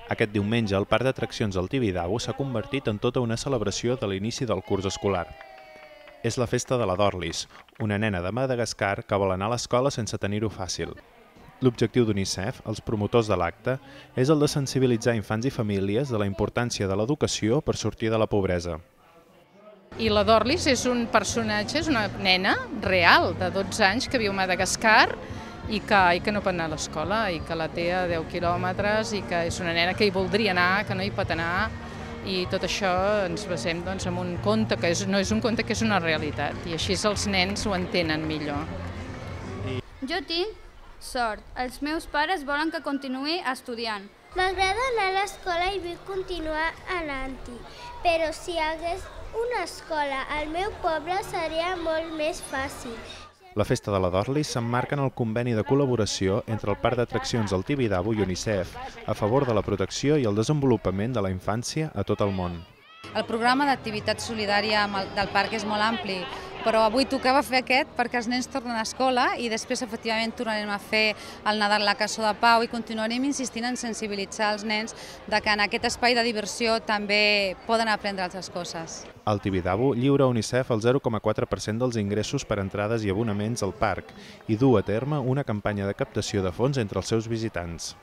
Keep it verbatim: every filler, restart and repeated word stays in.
Aquest diumenge, el parc d'atraccions del Tibidabo s'ha convertit en tota una celebració de l'inici del curs escolar. És la festa de la Dorlis, una nena de Madagascar que vol anar a l'escola sense tenir-ho fàcil. L'objectiu d'UNICEF, els promotors de l'acte, és el de sensibilitzar infants i famílies de la importància de l'educació per sortir de la pobresa. I la Dorlis és un personatge, és una nena real de dotze anys que viu a Madagascar i que, i que no pot anar a l'escola, i que la té a deu quilòmetres, i que és una nena que hi voldria anar, que no hi pot anar, i tot això ens basem doncs, en un conte, que és, no és un conte, que és una realitat, i així els nens ho entenen millor. Jo tinc sort. Els meus pares volen que continuï estudiant. M'agrada anar a l'escola i vull continuar anant-hi, però si hi hagués una escola al meu poble seria molt més fàcil. La Festa de la Dorlis s'emmarca en el conveni de col·laboració entre el Parc d'Atraccions del Tibidabo i UNICEF a favor de la protecció i el desenvolupament de la infància a tot el món. El programa d'activitat solidària del parc és molt ampli, però avui tocava fer aquest perquè els nens tornen a escola i després efectivament tornarem a fer el Nadal a la Cançó de Pau i continuarem insistint en sensibilitzar els nens de que en aquest espai de diversió també poden aprendre altres coses. El Tibidabo lliura a UNICEF el zero coma quatre per cent dels ingressos per entrades i abonaments al parc i du a terme una campanya de captació de fons entre els seus visitants.